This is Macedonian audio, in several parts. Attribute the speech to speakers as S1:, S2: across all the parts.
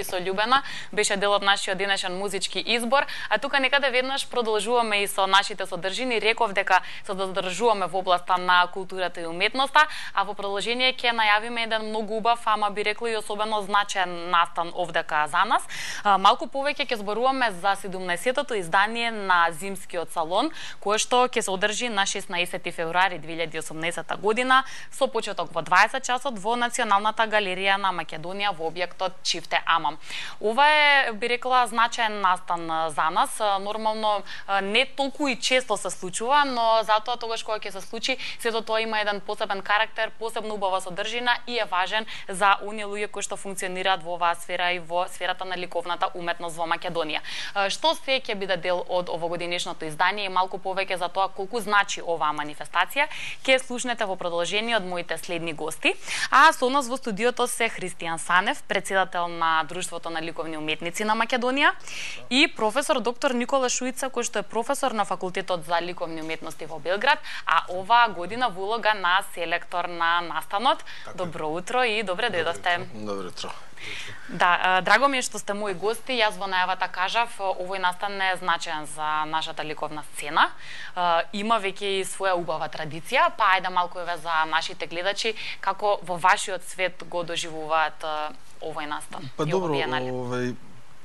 S1: со Љубена беше дел од нашиот денешен музички избор, а тука некаде веднаш продолжуваме и со нашите содржини. Реков дека се задржуваме во областа на културата и уметноста, а во продолжение ќе најавиме еден многу убав, ама би рекла и особено значаен настан овдека за нас. Малку повеќе ќе зборуваме за 17-тото издание на Зимскиот салон, кое што ќе се одржи на 16 февруари 2018 година со почеток во 20 часот во Националната галерија на Македонија во објектот Чифте Амам. Ова е, би рекла, значаен настан за нас. Нормално не толку и често се случува, но затоа тогаш кога ќе се случи, сето тоа има еден посебен карактер, посебно убава содржина и е важен за оние луѓе кои што функционираат во оваа сфера и во сферата на ликовната уметност во Македонија. Што се ќе биде дел од овогодинешното издание и малку повеќе за тоа колку значи оваа манифестација, ќе слушнете во продолжение од моите следни гости. А со нас во студиото се Христијан Санев, председател на Друштвото на ликовни уметници на Македонија, и професор доктор Никола Шуица, кој што е професор на Факултетот за ликовни уметности во Белград, а оваа година во улога на селектор на настанот. Добро утро и добре дојдовте.
S2: Добро утро.
S1: Да, драго ми е што сте мои гости. Јас во најавата кажав, овој настан е значаен за нашата ликовна сцена. Има веќе и своја убава традиција, па ајде малку еве за нашите гледачи како во вашиот свет го доживуваат овој настан.
S2: Па добро,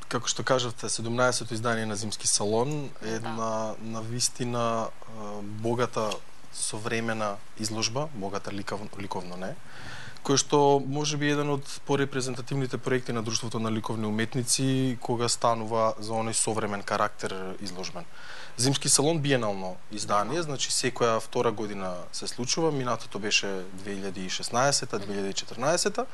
S2: како што кажавте, 17-то издание на Зимски салон е една навистина богата современа изложба, богата ликовно не, кој што можеби еден од порепрезентативните проекти на Друштвото на ликовни уметници кога станува за оној современ карактер изложбен. Зимски салон биенално издание, значи секоја втора година се случува, минатото беше 2016-2014.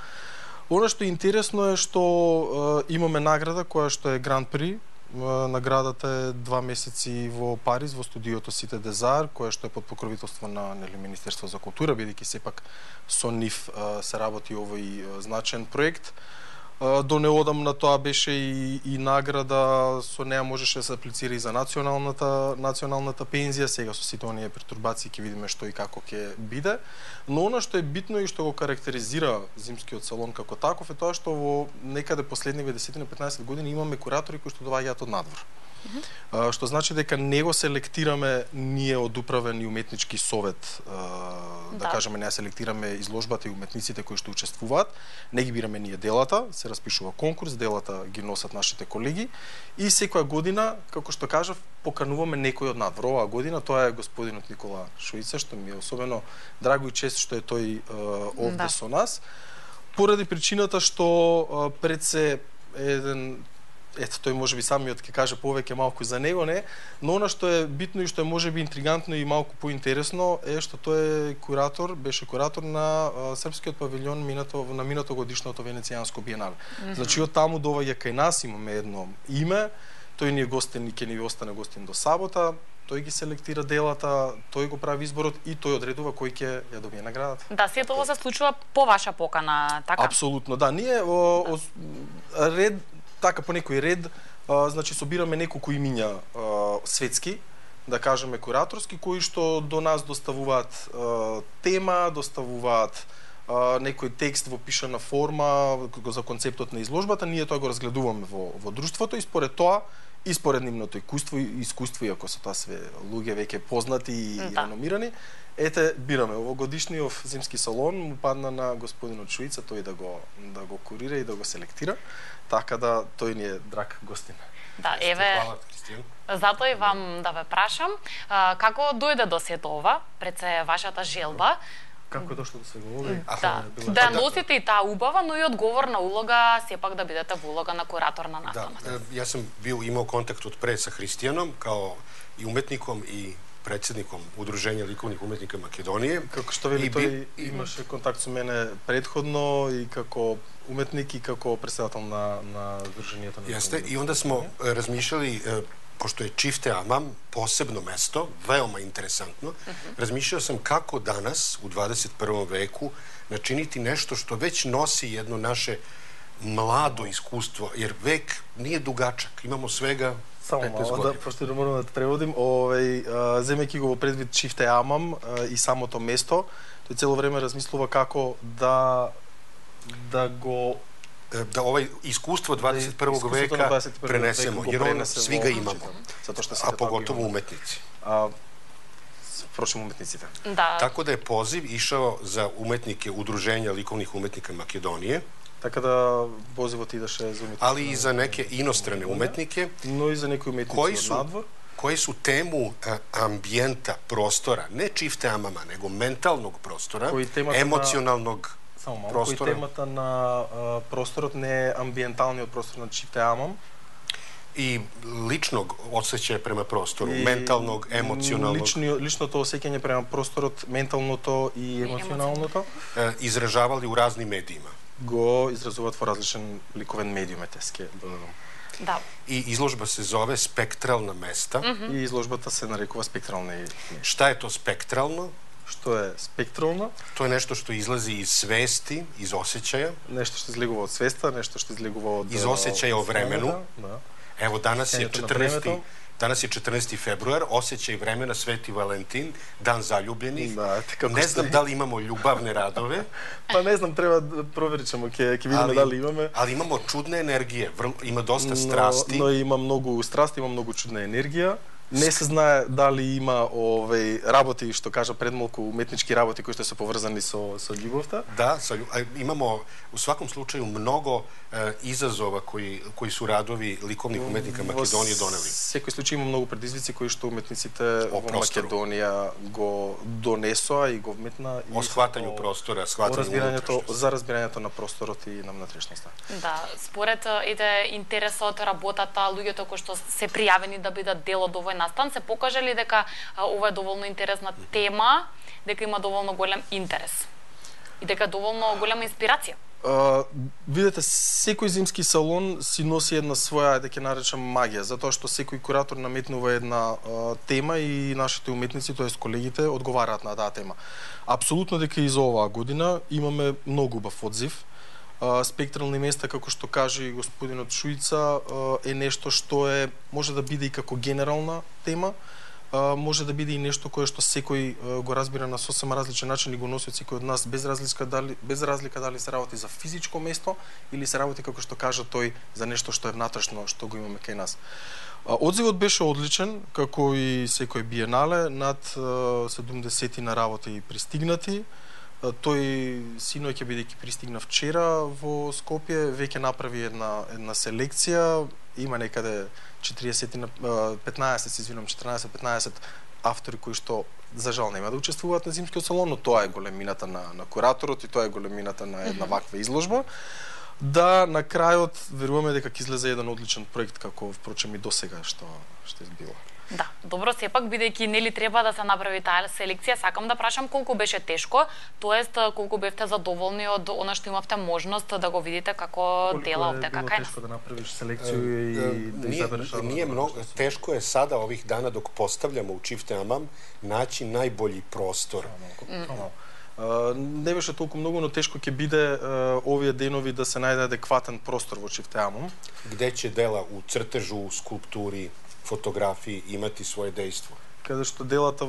S2: Оно што е интересно е што имаме награда која што е Гран При. Наградата е 2 месеци во Париз, во студиото Сите Дезар, која што е под покровителство на Министерство за култура, бидејќи сепак со нив се работи овој значен проект. До неодамна тоа беше и награда, со неа можеше да се аплицира и за националната пензија, сега со сите оние пертурбации ќе видиме што и како ќе биде. Но она што е битно и што го карактеризира Зимскиот салон како таков е тоа што во некаде последниве 10-15 години имаме куратори кои што доаѓаат од надвор. Што значи дека не го селектираме ние од управен и уметнички совет, да кажеме, не селектираме изложбата и уметниците кои што учествуваат, не ги бираме ние делата, се распишува конкурс, делата ги носат нашите колеги и секоја година, како што кажав, покануваме некој од надвор. Оваа година тоа е господинот Никола Шуица, што ми е особено драго и чест што е тој овде со нас, поради причината што пред се еден тој можеби самиот ќе каже повеќе малку за него, не, но она што е битно и што е можеби интригантно и малку поинтересно е што тој е куратор, беше куратор на српскиот павилјон на минатогодишното Венецијанско биенале. Значи од таму доаѓа кај нас, имаме едно име, тој ни е гостин и ќе ни остане гостин до сабота. Тој ги селектира делата, тој го прави изборот и тој одредува кој ќе ја добие наградата.
S1: Да, сето ова се случува по ваша покана, така?
S2: Апсолутно, да. Ние ред така по некој ред, значи собираме неколку имиња светски, да кажеме кураторски, кои што до нас доставуваат тема, доставуваат некој текст во пишана форма за концептот на изложбата, ние тоа го разгледуваме во друштвото и според тоа и според нивното искуство, иако се тоа све луѓе веќе познати и реномирани, бираме овогодишниот Зимски салон му падна на господинот Шуица тој да го курира и да го селектира, така да тој ни е драг гостин.
S1: Да, еве. Затоа и вам да ве прашам, како дојде до сето ова, пред се вашата желба?
S2: Како е дошло до свего ова?
S1: Да носите и таа убава, но и одговорна улога, сепак да бидете во улога на куратор на настанот.
S3: Да, јас сум имал контакт од пред со Христијаном, као и уметником и председником Удружење ликовних уметника Македонија.
S2: Како што вели тој имаше контакт со мене претходно и како уметник и како председател на Дружењето на
S3: Јесте, и онда смо размишljali, пошто е Чифте Амам, посебно место, веома интересантно, размишljao сам како данас, у 21. веку, начинити нешто што веќе носи едно наше младо искуство, jer век nije dugačak, imamo svega 15
S2: Само мало, пошто да морам да преводим, земејќи го во предвид Чифте Амам и самото место, тој цело време размислува како да го
S3: да овај искуство 21. века пренесемо, jer on svi ga imamo, a pogotovo umetnici.
S2: Впрочем, уметниците.
S1: Да.
S3: Tako da je poziv išao za umetnike Udruženja likovnih umetnika Makedonije,
S2: Така да позивот идеше за уметници.
S3: ali i za neke inostrane umetnike,
S2: но и за некои уметници од надвор,
S3: koji su temu ambijenta, prostora, ne čifte amama, nego mentalnog prostora, emocionalnog prostora.
S2: Кој темата на просторот не е амбиенталниот простор на чифте амам,
S3: i ličnog osjećaja prema prostoru, mentalnog, emocionalnog.
S2: Личното осеќање према просторот, менталното и емоционалното,
S3: izražavali u raznim medijima.
S2: Го изразуваат во различен ликовен медиум, етеске додадам.
S1: Да.
S3: I izložba se zove Spektralna mesta.
S2: И изложбата се нарекува спектрални.
S3: Šta je to spektralno?
S2: Што е спектрално?
S3: To je nešto što izlazi iz svesti, iz osjećaja.
S2: Нешто што излегува од свеста, нешто што излегува од
S3: iz osjećaja o vremenu.
S2: Да.
S3: Evo danas je 14. februar, osjećaj vremena, Sveti Valentin, dan zaljubljenih.
S2: Да,
S3: ne znam da li imamo ljubavne radove.
S2: Па не знам, треба да проверичаме, ќе видиме дали имаме.
S3: Ali imamo čudne energije, ima dosta strasti.
S2: Но има многу страсти, има многу чудна енергија. Не се знае дали има работи, што кажа пред малку, уметнички работи кои што се поврзани со љубовта.
S3: Da, imamo u svakom slučaju mnogo izazova koji su radovi likovnih umetnika Makedonije doneli.
S2: Во секој случај има многу предизвици кои што уметниците во Македонија го донесоа и го вметна
S3: о схватању простора, схватању
S2: за разбирањето на просторот и на внатрешноста.
S1: Да, според интересот, работата, луѓето кои што се пријавени да бидат дел од овој настан, се покажали дека ова е доволно интересна тема, дека има доволно голем интерес и дека доволно голема инспирација.
S2: Видете, секој зимски салон си носи една своја, да ќе наречам, магија, затоа што секој куратор наметнува една тема и нашите уметници, тоест колегите, одговараат на таа тема. Апсолутно дека и за оваа година имаме многу убав одзив. Спектрални места, како што каже и господинот Шујца, е нешто што може да биде и како генерална тема, може да биде и нешто кое што секој го разбира на сосем различен начин и го носи од секој од нас, без разлика дали се работи за физичко место или се работи, како што кажа тој, за нешто што е внатрешно, што го имаме кај нас. Одзивот беше одличен, како и секој биенале, над 70 на работи пристигнати. Тој синоќ, бидејќи пристигна вчера во Скопје, веќе направи една селекција, има некаде 14-15 автори кои што за жал нема да учествуваат на зимскиот салон, но тоа е големината на кураторот и тоа е големината на една ваква изложба. Да, на крајот веруваме дека ќе излезе еден одличен проект, како впрочем и досега што избило.
S1: Да, добро, сепак бидејќи нели треба да се направи таа селекција, сакам да прашам колку беше тешко, тоест колку бевте задоволни од она што имавте можност да го видите како дела овде кај нас.
S2: Колку е тешко да направиш селекцiju и да избереш?
S3: Nije mnogo, teško je sada ovih dana dok postavljamo u Čifte Amam naći najbolji prostor.
S2: Не беше толку многу, но тешко ќе биде овие денови да се најде адекватен простор во Čifte Amam.
S3: Gde će dela u crtežu, skulpturi, fotografiji imati svoje dejstvo.
S2: Каде што делата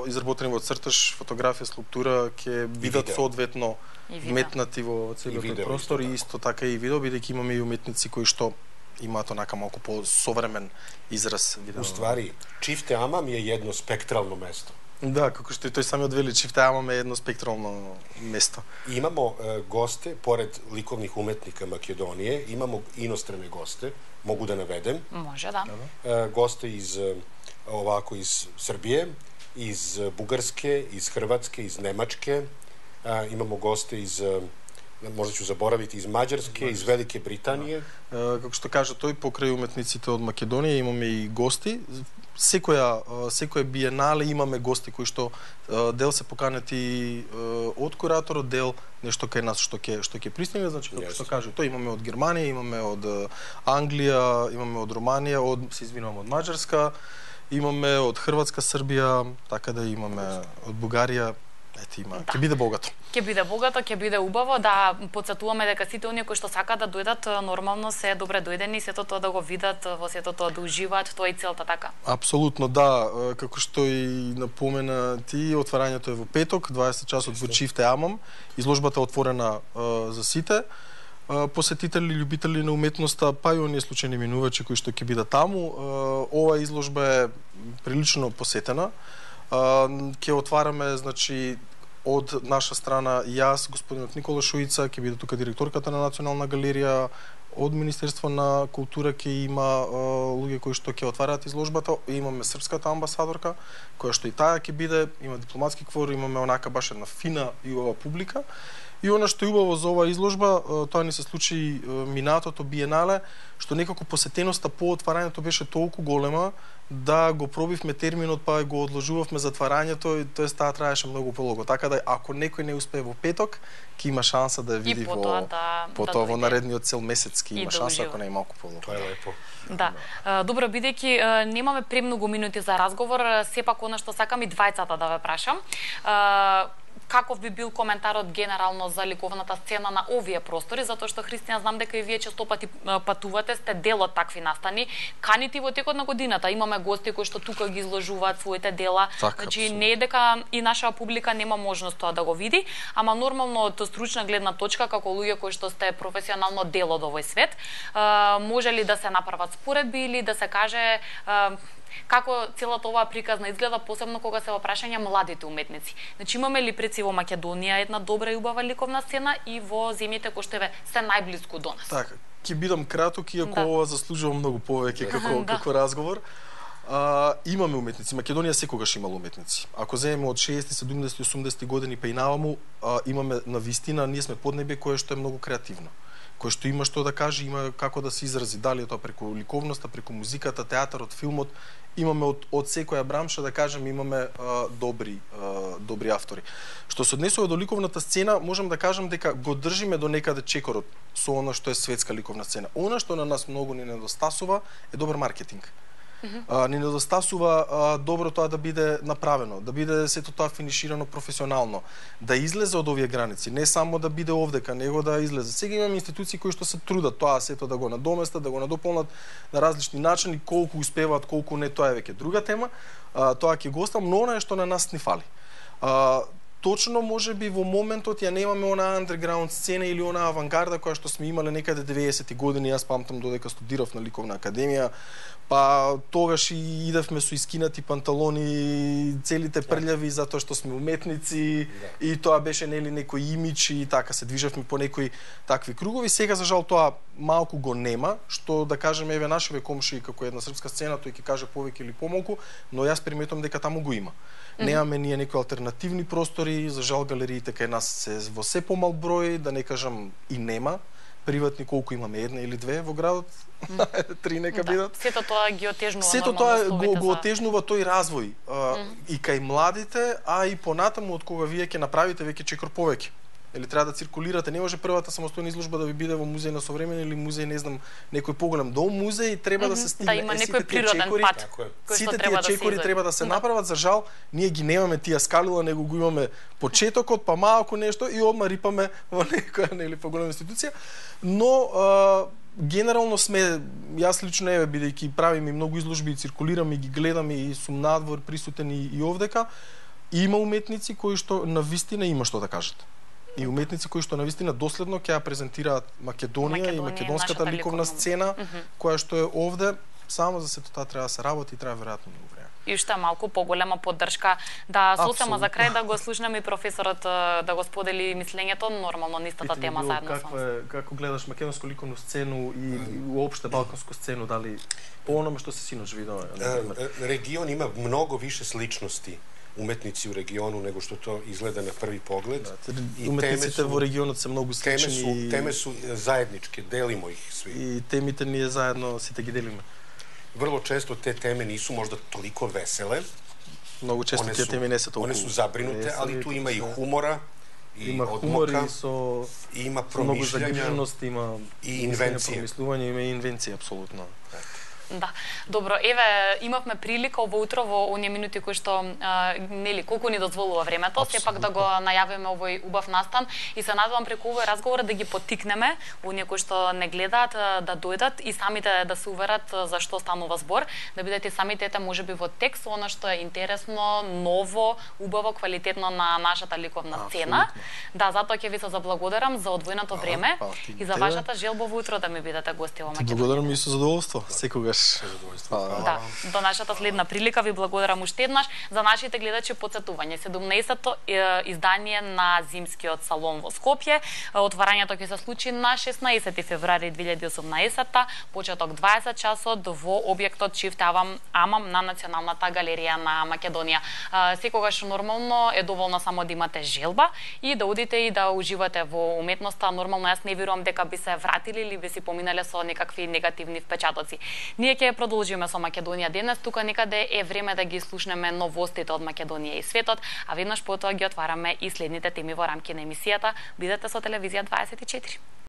S2: изработени во цртеж, фотографија, скулптура ќе бидат соодветно вметнати во целиот тој простор и исто така и видео, бидејќи имаме и уметници кои што имаат онака малку по-современ израз.
S3: У ствари, Čifte Amam je jedno spektralno mesto.
S2: Да, како што и тој самиот вели, Čifte Amam е едно спектрално место.
S3: Имамо госте, поред ликовних уметника Македонije, имамо иностране госте, могу да наведем.
S1: Може, да.
S3: Госте из Srbije, iz Bugarske, iz Hrvatske, iz Nemačke. Imamo goste iz, možda ću zaboraviti, iz Mađarske, iz Velike Britanije.
S2: Како што кажа тој, покрај уметниците од Македонија имаме и гости. Секоја биенале имаме гости кои што дел се поканети од кураторот, дел нешто кај нас што ќе пристигне, значи како што кажа тој, имаме од Германија, имаме од Англија, имаме од Романија, од Маđарска, имаме од Хрватска, Србија, така да имаме од Бугарија. Ете, има. Ќе биде богато.
S1: Ќе биде богато, ќе биде убаво, да потсетуваме дека сите оние кои што сакаат да дојдат, нормално се добре дојдени, сето тоа да го видат, во сето тоа да уживаат, тоа е целта, така?
S2: Апсолутно, да. Како што и напомена ти, отварањето е во петок, 20 часот во Čifte Amam. Изложбата е отворена за сите. посетители, љубители на уметноста, па и оние случајни минувачи кои што ќе бидат таму. Ова изложба е прилично посетена. Ќе отвараме, значи, од наша страна јас, господинот Никола Шуица, ќе биде тука директорката на Национална галерија, од Министерство на култура ќе има луѓе кои што ќе отвараат изложбата, имаме српската амбасадорка, која што и таа ќе биде, има дипломатски квор, имаме онака баш една фина и ова публика. И она што е убаво за оваа изложба, тоа ни се случи минатото биенале, што некако посетеноста по отварањето беше толку голема да го пробивме терминот, па го одложувавме затварањето, тоест таа траеше многу полого. Така да ако некој не успее во петок, ќе има шанса да ја види потоа во наредниот цел месец ќе има шанса, ако не е малку полого.
S3: Тоа е лепо.
S1: Да. Добро, бидејќи немаме премногу минути за разговор, сепак она што сакам и двајцата да ве прашам. Каков би бил коментарот генерално за ликовната сцена на овие простори, затоа што Христијан знам дека и вие често пати патувате, сте дел од такви настани, каните во текот на годината. Имаме гости кои што тука ги изложуваат своите дела. Значи не е дека и наша публика нема можност тоа да го види, ама нормално од стручна гледна точка како луѓе кои што сте професионално дел од овој свет, може ли да се направат споредби или да се каже како целата оваа приказна изгледа, посебно кога се во прашање младите уметници. Значи имаме ли преци во Македонија една добра и убава ликовна сцена и во земјите кои што се најблиску до нас?
S2: Така, ќе бидам краток, иако ова заслужува многу повеќе како разговор. Имаме уметници. Македонија секогаш имала уметници. Ако земеме од 60, 70, 80 години па и наваму, имаме навистина, ние сме поднебе кое што е многу креативно, кој што има што да каже, има како да се изрази, дали е тоа преку ликовноста, преку музиката, театарот, филмот, имаме од секоја бранша, да кажем, имаме добри автори. Што се однесува до ликовната сцена, можам да кажам дека го држиме до некаде чекорот со она што е светска ликовна сцена. Она што на нас многу ни недостасува е добар маркетинг. Ни недостасува добро тоа да биде направено, да биде сето тоа финиширано професионално, да излезе од овие граници, не само да биде овдека, него да излезе. Сега имаме институции кои што се трудат тоа сето да го надоместат, да го надополнат на различни начини, колку успеваат, колку не, тоа е веќе друга тема. Тоа ќе го оставам, но она е што на нас ни фали. Точно можеби во моментот ја немаме она андерграунд сцена или она авангарда која што сме имале некаде 90-ти години. Јас памтам додека студирав на Ликовна академија, па тогаш и идевме со искинати панталони, целите прљави затоа што сме уметници, и тоа беше нели некој имидж и така се движевме по некои такви кругови. Сега за жал тоа малку го нема, што да кажеме еве нашиве комши како една српска сцена, тој ќе каже повеќе или помалку, но јас приметувам дека таму го има. Немаме ние некои алтернативни простори, за жал галериите кај нас се во се помал број, да не кажам и нема. Приватни колку имаме, една или две во градот, три нека бидат.
S1: Сето тоа ги отежнува.
S2: Сето тоа го отежнува тој развој и кај младите, а и понатаму од кога вие ќе направите веќе чекор повеќе. Или треба да циркулирате, не може првата самостојна изложба да ви биде во музеј на современ или музеј, не знам, некој поголем дом музеј, треба да се стигне.
S1: Да има некој природен пат.
S2: Сите тие чекори треба да се направат, за жал ние ги немаме тие скалила, него го имаме почетокот, па малку нешто и одма рипаме во некоја нели поголема институција. Но генерално сме, јас лично еве бидејќи правим и многу изложби и циркулирам и ги гледам и сум надвор присутен и овдека, има уметници кои што навистина има што да кажат. И уметници кои што навистина доследно ќе ја презентираат Македонија и македонската ликовна сцена, која што е овде, само за сето тоа треба да се работи и треба веројатно многу време.
S1: И уште малку поголема поддршка. Да, сосема за крај да го слушнеме и професорот да го сподели мислењето, нормално нистата тема заедно со нас.
S2: Како гледаш македонско ликовну сцену и уопште балканску сцену, дали по ономе што се синоќ видоа?
S3: Регион има многу више сличности уметници у региону него што тоа изгледа на први поглед.
S2: И уметниците во регионот се многу слични.
S3: Теме су заеднички, делимо их сви.
S2: И темите ние заедно сите ги делиме.
S3: Врло често те теме нису можда толико веселе.
S2: Многу често тие теми не се толку.
S3: Они су забринуте, али ту има и хумора, и
S2: има хумор
S3: и има
S2: промишљања,
S3: има
S2: и инвенција. Промислување, има и инвенција апсолутно.
S1: Да. Добро, еве имавме прилика ово утро во оние минути кои што нели колку ни дозволува времето, сепак да го најавиме овој убав настан и се надевам преку овој разговор да ги поттикнеме оние кои што не гледаат да дојдат и самите да се уверат за што станува збор, да бидете самите ете можеби во текст она што е интересно, ново, убаво, квалитетно на нашата ликовна сцена. Да, затоа ќе ви се заблагодарам за одвоеното време и за вашата желба во утро да ми бидете гости во Македонија.
S2: Благодарам и со задоволство, секогаш.
S1: Да, до нашата следна прилика ви благодарам уште еднаш. За нашите гледачи потсетување, 17-то издание на Зимскиот салон во Скопје. Отварањето ќе се случи на 16 февруари 2018, почеток 20 часот во објектот Чифте Амам на Националната галерија на Македонија. Секогаш нормално е доволно само да имате желба и да одите и да уживате во уметноста. Нормално јас не верувам дека би се вратили или би си поминале со некакви негативни впечатоци. Ние ќе продолжиме со Македонија денес, тука некаде е време да ги слушнеме новостите од Македонија и светот, а веднаш потоа ги отвараме и следните теми во рамки на емисијата. Бидете со Телевизија 24.